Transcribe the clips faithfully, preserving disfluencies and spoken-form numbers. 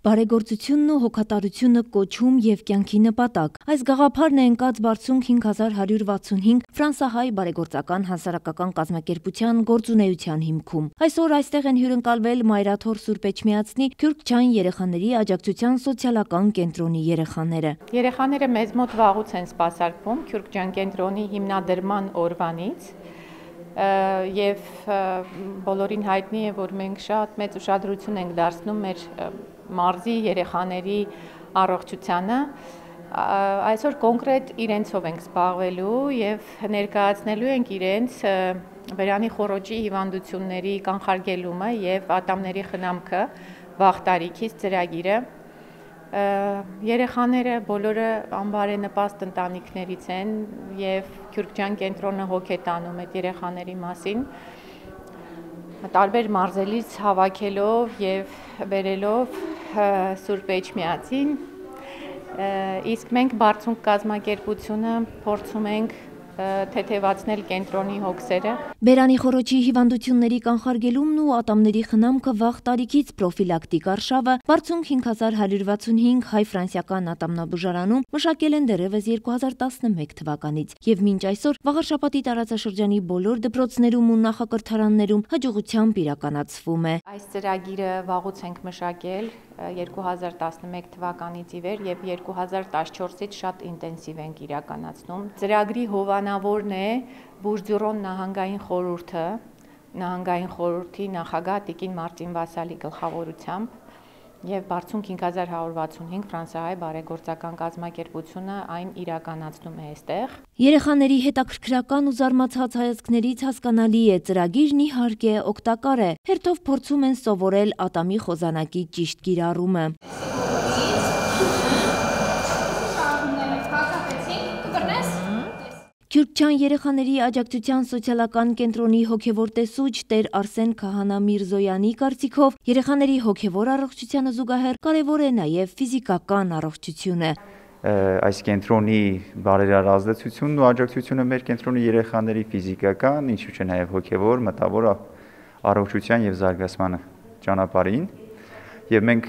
Բարեգործությունն ու հոգատարությունը կոչում եւ կյանքի նպատակ։ Այս գաղափարն է ընկած բարձունք հինգ հազար հարյուր վաթսունհինգ ֆրանսահայ բարեգործական հասարակական կազմակերպության գործունեության հիմքում։ Այսօր այստեղ են հյուրընկալվել Մայրաթոր Սուրբ Էջմիածնի Քյուրքչյան երեխաների աջակցության սոցիալական կենտրոնի երեխաները։ Երեխաները մեզ մոտ վաղուց են սպասարկվում Քյուրքչյան կենտրոնի հիմնադրման օրվանից։ Եվ բոլորին հայտնի է, որ մենք շատ մեծ ուշադրություն ենք դարձնում մեր մարզի երեխաների առողջությանը, այսօր կոնկրետ իրենցով ենք զբաղվելու եւ ներկայացնելու ենք իրենց բերանի խոռոչի հիվանդությունների կանխարգելումը եւ ատամների խնամքը վաղ տարիքից ծրագիրը։ Երեխաները բոլորը անբարենպաստ ընտանիքներից են եւ Քյուրքչյան կենտրոնը հոգ է տանում այդ երեխաների մասին, տարբեր մարզերից հավաքելով եւ բերելով Սուրբ Էջմիածին, իսկ մենք բարձունք կազմակերպությունը փորձում ենք թեթևացնել կենտրոնի հոգսերը։ Բերանի խոռոչի հիվանդությունների կանխարգելումն ու ատամների խնամքը վաղ տարիքից պրոֆիլակտիկ արշավը բարձունք հինգ հազար հարյուր վաթսունհինգ հայ-ֆրանսիական ատամնաբուժարանում մշակել են դեռևս երկու հազար տասնմեկ թվականից եւ մինչ այսօր Վաղարշապատի տարածաշրջանի բոլոր դպրոցներում ու նախակրթարաններում հաջողությամբ իրականացվում է։ Այս ծրագիրը վաղուց ենք մշակել երկու հազար տասնմեկ թվականից ի վեր եւ երկու հազար տասնչորսից շատ ինտենսիվ ենք իրականացնում։ Ծրագրի հովանավորն է Բուրձյուրոն նահանգային խորհուրդը, նահանգային խորհրդի նախագահ Տիկին Մարտին Վասալի գլխավորությամբ եւ բարձունք հինգ հազար հարյուր վաթսունհինգ ֆրանսահայ բարեգործական կազմակերպությունը այն իրականացնում է այստեղ։ Երեխաների հետաքրքրական ու զարմացած հայացքներից հասկանալի է, ծրագիրն իհարկե օգտակար է։ Հերթով փորձում են սովորել ատամի խոզանակի ճիշտ կիրառումը։ Քյուրքչյան երեխաների աջակցության սոցիալական կենտրոնի հոգևոր տեսուչ Տեր Արսեն Քահանա Միրզոյանի կարծիքով երեխաների հոգևոր առողջությանը զուգահեռ կարևոր է նաև ֆիզիկական առողջությունը։ Այս կենտրոնի բարերար ազդեցությունն ու աջակցությունը մեր կենտրոնի երեխաների ֆիզիկական, ինչու՞ չէ նաև հոգևոր, մտավոր առողջության եւ զարգացման ճանապարհին։ Եվ մենք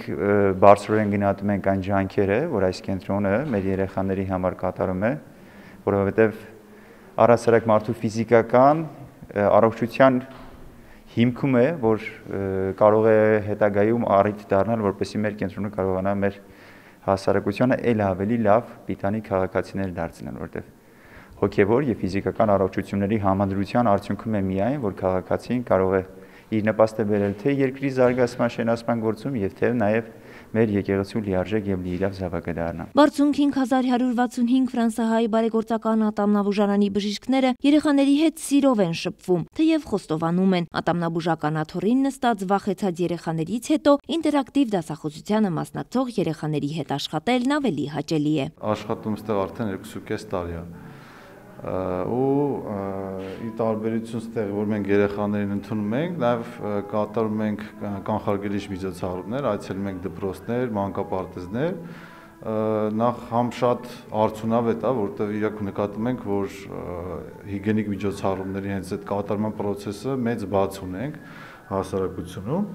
բարձրորեն գնահատում ենք այն ջանքերը, որ այս կենտրոնը մեր երեխաների համար կատարում է, որովհետեւ առասարակ մարդու ֆիզիկական առողջության հիմքում է, որ կարող է հետագայում առիթ դառնալ, որպեսզի մեր կենտրոնը կարողանա մեր հասարակությանը ել ավելի լավ պիտանի քաղաքացիներ դարձնել, որտեղ հոգևոր եւ ֆիզիկական առողջությունների համադրության արդյունքում է միայն, որ քաղաքացին կարող է իր նպաստը բերել թե երկրի զարգացման շենացման գործում եւ թե նաեւ մեր եկեղեցու լիարժեք եւ լիիրավ զավակը դառնա։ Բարձունք հինգ հազար հարյուր վաթսունհինգ ֆրանսահայ բարեգործական ատամնաբուժարանի բժիշկները երեխաների հետ սիրով են շփվում, թեև խոստովանում են, ատամնաբուժական աթոռին նստած վախեցած երեխաներից հետո ինտերակտիվ դասախոսությանը մասնակցող երեխաների հետ աշխատելն ավելի հաճելի է։ Աշխատում ստեղ արդեն երկուսուկես տարի է։ Ու ի տարբերություն ստեղ, որ մենք երեխաներին ընդունում ենք, նաև կատարում ենք կանխարգելիչ միջոցառումներ, այցելում ենք դպրոցներ, մանկապարտեզներ, նախ համ շատ արդյունավետ է, որտեղ իրոք նկատում ենք, որ հիգիենիկ միջոցառումների հենց այդ կատարման process-ը մեծ բաց ունենք հասարակությունում,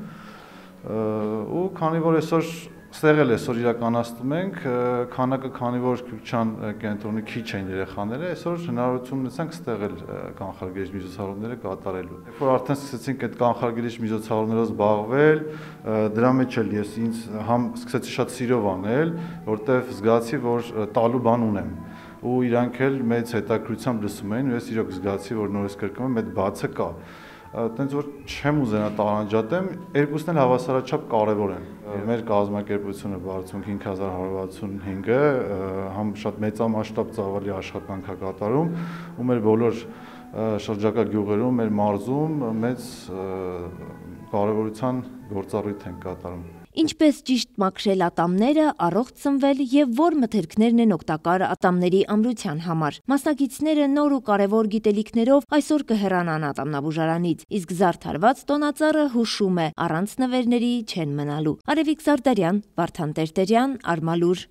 ու քանի որ այսօր ստեղ էլ այսօր իրականացնում ենք, քանակը քանի որ Քյուրքչյան կենտրոնի քիչ են երեխաները, այսօր հնարավորություն ունեցանք ստեղ էլ կանխարգելիչ միջոցառումները կատարելու։ Երբ որ արդեն սկսեցինք այդ կանխարգելիչ միջոցառումներով զբաղվել, դրա մեջ էլ ես ինձ համ սկսեցի շատ սիրով անել, որտեղ զգացի, որ տալու բան ունեմ, ու իրանք էլ մեծ հետաքրքրությամբ լսում էին, ու ես իրոք զգացի, որ նորից կրկնում եմ, այդ բացը կա։ Տենց որ չեմ ուզենա տարանջատեմ, երկուսն էլ հավասարաչափ կարևոր են։ Մեր կազմակերպությունը բարձունք հինգ հազար հարյուր վաթսունհինգը համ շատ մեծամասշտաբ ծավալի աշխատանք է կատարում, ու մեր բոլոր շրջակա գյուղերում, մեր մարզում մեծ կարևորության գործառույթ են կատարում։ Ինչպես ճիշտ մաքրել ատամները, առողջ սնվել եւ որ մթերքներն են օգտակար ատամների ամրության համար։ Մասնակիցները նոր ու կարևոր գիտելիքներով այսօր կհեռանան ատամնաբուժարանից, իսկ զարդարված տոնածառը հուշում է, առանց նվերների չեն մնալու։ Արևիկ Զարդարյան, Վարդան Տերտերյան, Արմալուր։